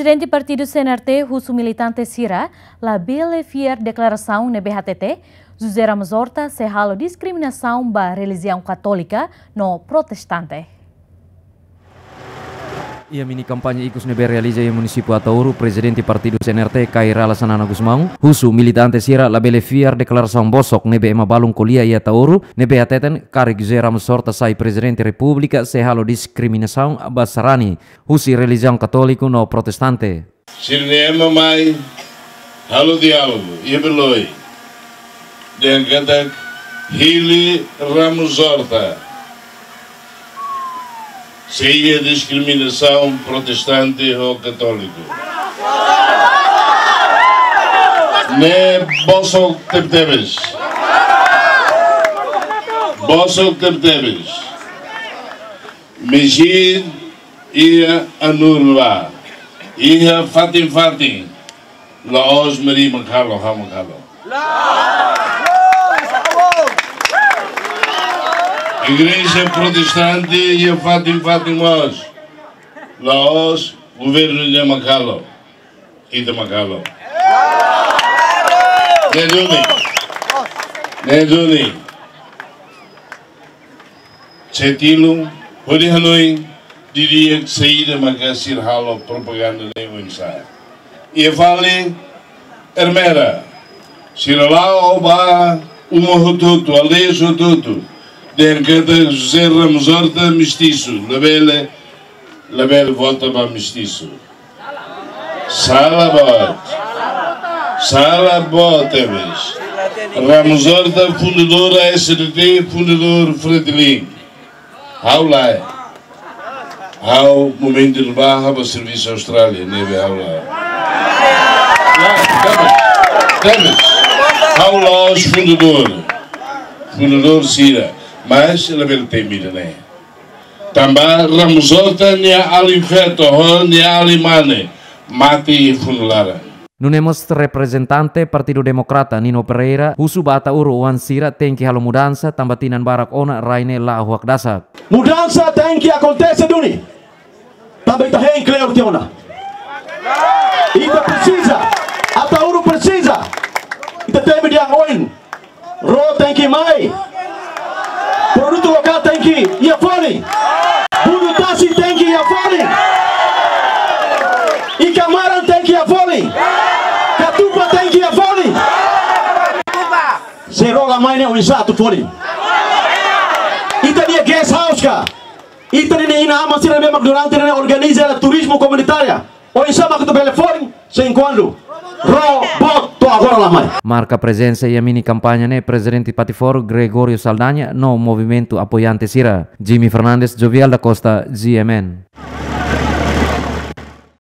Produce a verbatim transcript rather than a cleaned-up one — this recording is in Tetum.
Prezidente Partidu C N R T husu militante sira labele fiar deklarasaun ne'ebé hatete José Ramos Horta sei halo diskriminasaun ba relijiaun katólika no protestante. Iha mini kampaña ikus ne'ebé realiza iha munisípiu Ataúro, Prezidente Partidu C N R T, Kay Rala Xanana Gusmão, husu militante sira labele fiar deklarasaun bosok ne'ebé ema balun ko'alia iha Ataúro, ne'ebé hateten karik José Ramos Horta sai Prezidente Repúblika sei halo diskriminasaun ba sarani husi relijiaun katóliku no protestante. Sira-nia ema mai halo diálogu iha Beloi, dehan katak hili Ramos Horta sei iha diskriminasaun protestante ho katóliku. Ne'e bosok tebetebes. Bosok tebetebes. Mezit iha Anur ba, iha fatin-fatin, la'ós Meri mak halo, ha'u mak halo. Igreja protestante iha fatin-fatin mós, la'ós governu nian mak halo, ita mak halo. Ne'e duni. Ne'e duni. Sei tilun, hodi hanoin, didi'ak saida maka sira halo propaganda ne'e oinsá. Iha fali Ermera, sira la'o ba uma hotu-hotu, aldeia hotu-hotu, dehan katak José Ramos Horta mestisu, labele, labele vota ba mestisu. Sala boot. Sala boot tebes. Ramos Horta fundadór A S D T, fundadór Fretilin. Ha'u lae. Ha'u momentu ne'ebá ha'u bá servisu Austrália, ne'ebé ha'u lae. Lae, tebes. Tebes. Ha'u la'ós fundadór. Fundadór sira. Mas labele temi ida-ne'e. Tanba Ramos Horta nia alin feto ho nia alin mane mate iha funu laran. Nune'e mós reprezentante Partidu Demokrata Nino Pereira husu ba Ataúro oan sira tenke halo mudansa tanba tinan barak ona rai ne'e la'o hakdasak. Mudansa tenke akontese duni. Tanba ita hein kleur tiha ona. Ita presiza, Ataúro presiza. Ita temi dehan oin. Ró tenke mai. Produtu lokál tenke iha folin. Budu tasi tenke iha folin. Ikan maran tenke iha folin. Katupa tenke iha folin. Se ró la mai ne'e oinsá atu folin. Ita-nia guest house ka. Ita-nia inan-aman sira ne'ebé mak durante ne'e organiza turizmu komunitária. Oinsá mak atu bele folin, se enkuantu ró, boot to'o agora la mai. Marka prezensa iha mini kampaña ne'e Prezidente Pattiforo Gregório Saldanha no movimentu apoiante sira. Jimmy Fernandes, Jovial da Costa, G M N.